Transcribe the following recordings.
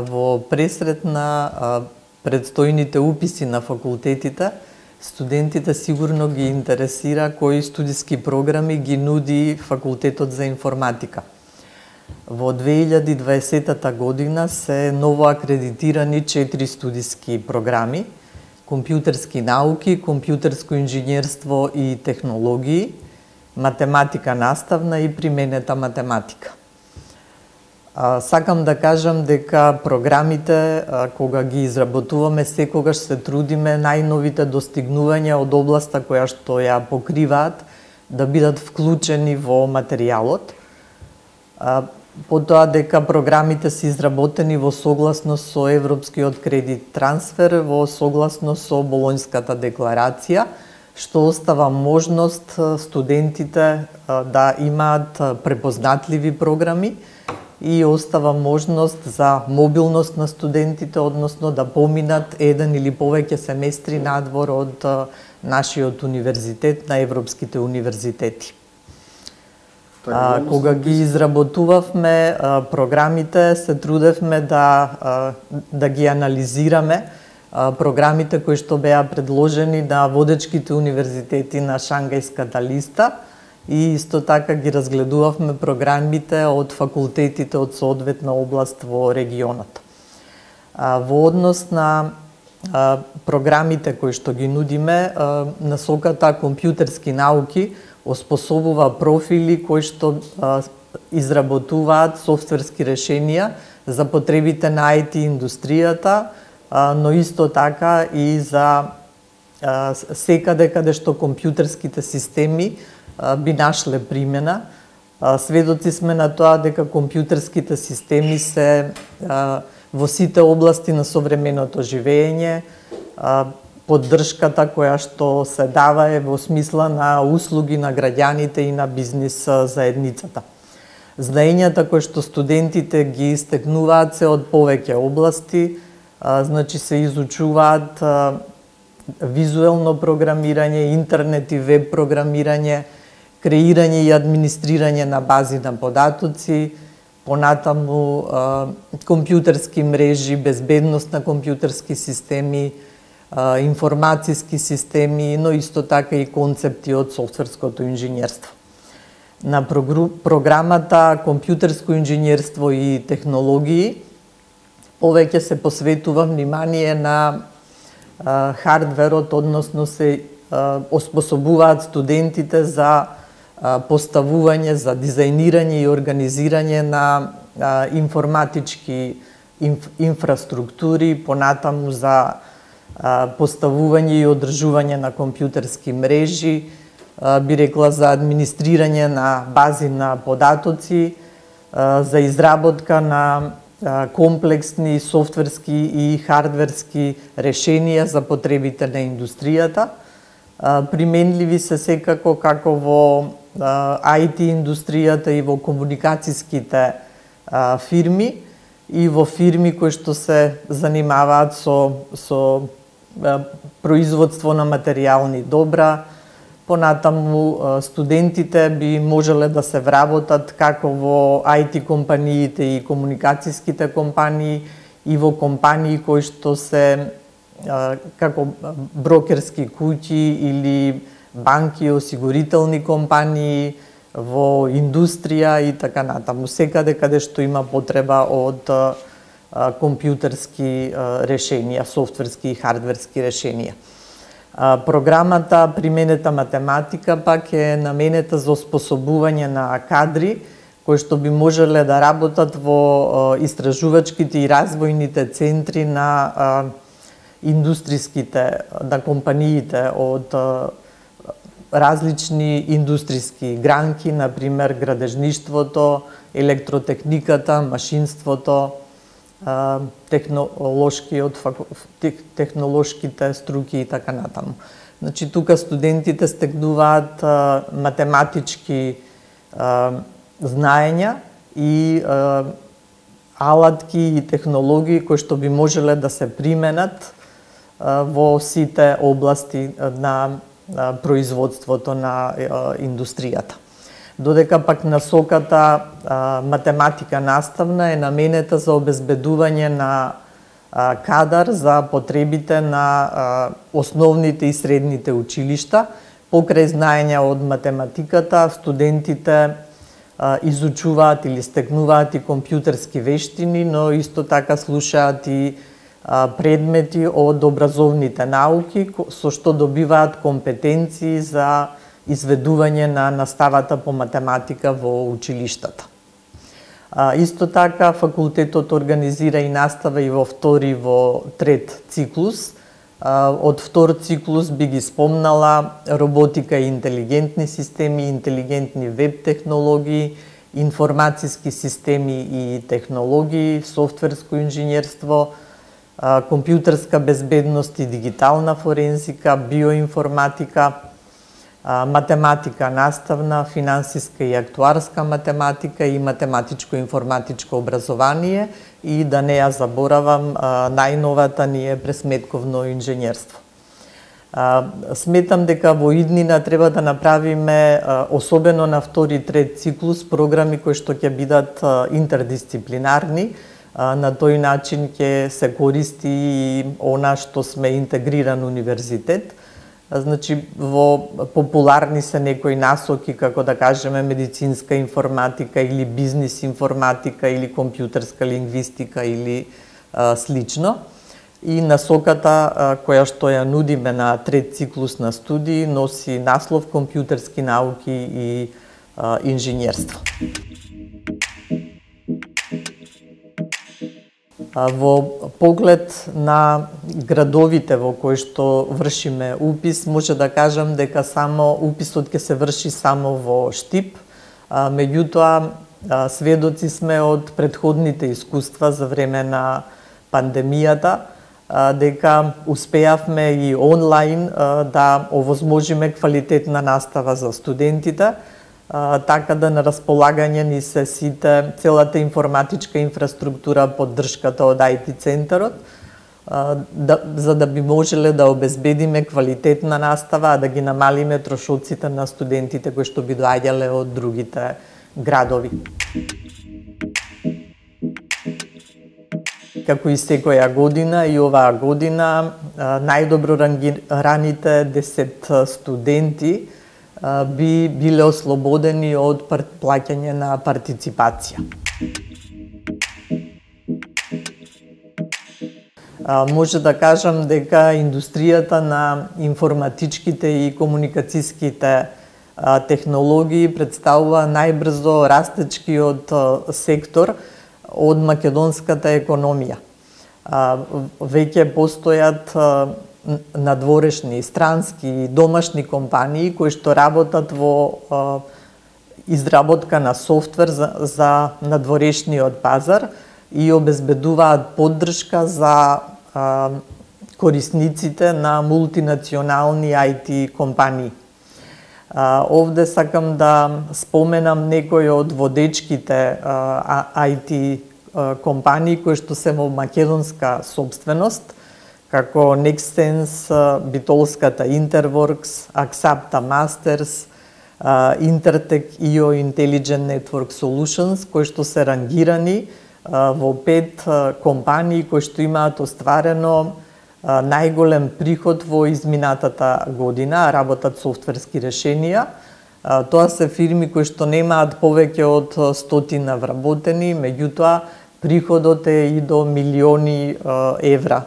Во пресрет на предстојните уписи на факултетите, студентите сигурно ги интересира кои студиски програми ги нуди Факултетот за информатика. Во 2020 година се ново акредитирани 4 студиски програми: компјутерски науки, компјутерско инженерство и технологии, математика наставна и применета математика. Сакам да кажам дека програмите, кога ги изработуваме, секогаш се трудиме најновите достигнувања од областа која што ја покриваат да бидат вклучени во материјалот. Потоа дека програмите се изработени во согласност со Европскиот кредит трансфер, во согласност со Болонјската декларација, што остава можност студентите да имаат препознатливи програми и остава можност за мобилност на студентите, односно да поминат еден или повеќе семестри надвор од нашиот универзитет на европските универзитети. Кога ги изработувавме програмите, се трудевме да ги анализираме програмите кои што беа предложени на водечките универзитети на Шангајската листа, и исто така ги разгледувавме програмите од факултетите од соодветна област во регионот. Во однос на програмите кои што ги нудиме, насоката компјутерски науки оспособува профили кои што изработуваат софтверски решенија за потребите на IT индустријата, но исто така и за секаде каде што компјутерските системи би нашле примена. Сведоци сме на тоа дека компјутерските системи се во сите области на современото живење. Поддршката која што се дава е во смисла на услуги на граѓаните и на бизнис заедницата. Знаењата кои што студентите ги стекнуваат се од повеќе области, значи се изучуваат визуелно програмирање, интернет и веб програмирање, креирање и администрирање на бази на податоци, понатаму компјутерски мрежи, безбедност на компјутерски системи, информацијски системи, но исто така и концепти од софтверското инженерство. На програмата компјутерско инженерство и технологии повеќе се посветува внимание на хардверот, односно се оспособуваат студентите за поставување, за дизајнирање и организирање на информатички инфраструктури, понатаму за поставување и одржување на компјутерски мрежи, би рекла за администрирање на бази на податоци, за изработка на комплексни софтверски и хардверски решенија за потребите на индустријата. Применливи се секако како во IT индустријата и во комуникацијските фирми и во фирми кои што се занимаваат со производство на материјални добра. Понатаму студентите би можеле да се вработат како во IT компаниите и комуникацијските компании и во компании кои што се како брокерски куќи или банки, осигурителни компании, во индустрија и така натаму. Секаде каде што има потреба од компјутерски решенија, софтверски и хардверски решенија. Програмата применета математика пак е наменета за оспособување на кадри кои што би можеле да работат во истражувачките и развојните центри на индустриските, на компаниите од различни индустријски гранки, например градежништвото, електротехниката, машинството, технолошките струки и така натаму. Значи, тука студентите стекнуваат математички знаења и алатки и технологии кои што би можеле да се применат во сите области на производството на индустријата. додека пак насоката математика наставна е наменета за обезбедување на кадар за потребите на основните и средните училишта. Покрај знаења од математиката, студентите изучуваат или стекнуваат и компјутерски вештини, но исто така слушаат и предмети од образовните науки, со што добиваат компетенции за изведување на наставата по математика во училиштата. Исто така, факултетот организира и настава и во втори, во трет циклус. Од втор циклус би ги спомнала роботика и интелигентни системи, интелигентни веб технологии, информациски системи и технологии, софтверско инженерство, компјутерска безбедност и дигитална форензика, биоинформатика, математика наставна, финансиска и актуарска математика и математичко-информатичко образование и да не ја заборавам најновата ни е пресметковно инженерство. Сметам дека во иднина треба да направиме, особено на втори и трет циклус, програми кои што ќе бидат интердисциплинарни. На тој начин ќе се користи и она што сме интегриран универзитет. Значи, во популарни се некои насоки, како да кажеме медицинска информатика или бизнис информатика или компјутерска лингвистика или слично. И насоката која што ја нудиме на трет циклус на студии носи наслов компјутерски науки и инженерство. Во поглед на градовите во кои што вршиме упис, може да кажам дека само уписот ќе се врши само во Штип, меѓутоа сведоци сме од претходните искуства за време на пандемијата, дека успеавме и онлайн да овозможиме квалитетна настава за студентите, така да на располагање ни се целата информатичка инфраструктура, поддршката од IT центарот, за да би можеле да обезбедиме квалитетна настава, а да ги намалиме трошоците на студентите кои што би доаѓале од другите градови. Како и секоја година, и оваа година најдобро рангираните 10 студенти би биле ослободени од плаќање на партиципација. Може да кажам дека индустријата на информатичките и комуникацијските технологии представува најбрзо растечкиот сектор од македонската економија. Веќе постојат надворешни, странски и домашни компании кои што работат во изработка на софтвер за надворешниот пазар и обезбедуваат поддршка за корисниците на мултинационални IT компании. Овде сакам да споменам некои од водечките IT компании кои што се во македонска собственост, како Nextsense, битолската Interworks, Axapta Masters, Intertech IO Intelligent Network Solutions, кои што се рангирани во 5 компании кои што имаат остварено најголем приход во изминатата година, работат софтверски решенија. Тоа се фирми кои што немаат повеќе од 100 вработени, меѓутоа приходот е и до милиони евра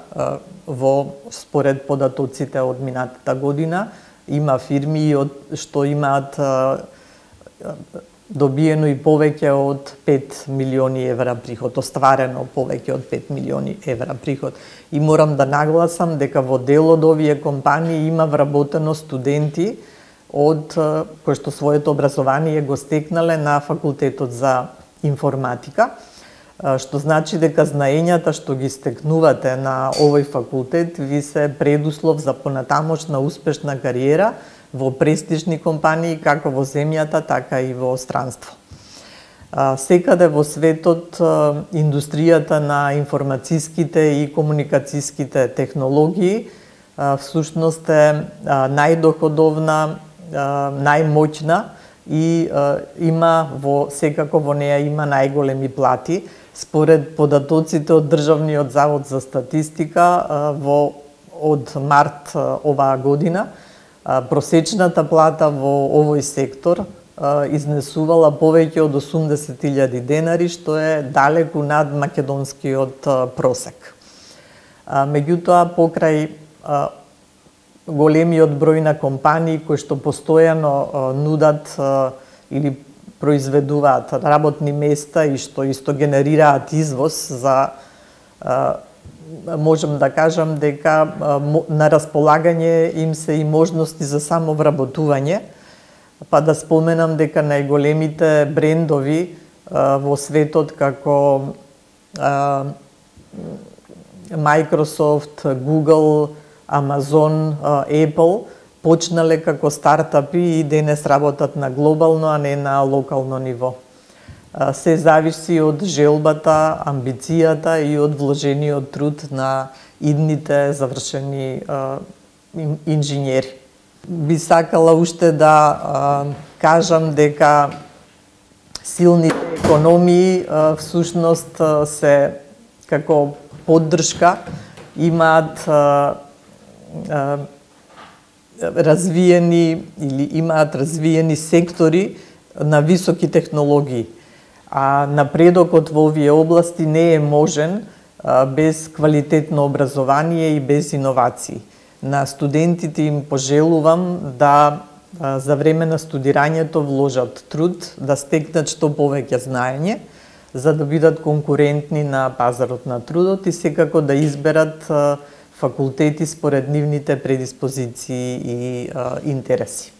во според податоците од минатата година. Има фирми што имаат добиено и повеќе од 5 милиони евра приход, остварено повеќе од 5 милиони евра приход. И морам да нагласам дека во дел од овие компании има вработено студенти од кои што своето образование го стекнале на факултетот за информатика, што значи дека знаењата што ги стекнувате на овој факултет ви се предуслов за понатамошна успешна кариера во престижни компании како во земјата, така и во странство. Секаде во светот индустријата на информацијските и комуникацијските технологии всушност е најдоходовна, најмоќна и секако во неа има најголеми плати. Според податоците од Државниот завод за статистика од март оваа година, просечната плата во овој сектор изнесувала повеќе од 80.000 денари, што е далеку над македонскиот просек. Меѓутоа, покрај големиот број на компании кои што постојано нудат или произведуваат работни места и што исто генерираат извоз, можам да кажам дека на располагање им се и можности за самовработување, па да споменам дека најголемите брендови во светот како Microsoft, Google, Amazon, Apple почнале како стартапи и денес работат на глобално, а не на локално ниво. Се зависи од желбата, амбицијата и од вложениот труд на идните завршени инженери. Би сакала уште да кажам дека силните економии всушност се како поддршка имаат развиени сектори на високи технологии. А напредокот во овие области не е можен без квалитетно образование и без иновации. На студентите им пожелувам да за време на студирањето вложат труд, да стекнат што повеќе знаење, за да бидат конкурентни на пазарот на трудот и секако да изберат факултети според нивните предиспозиции и интереси.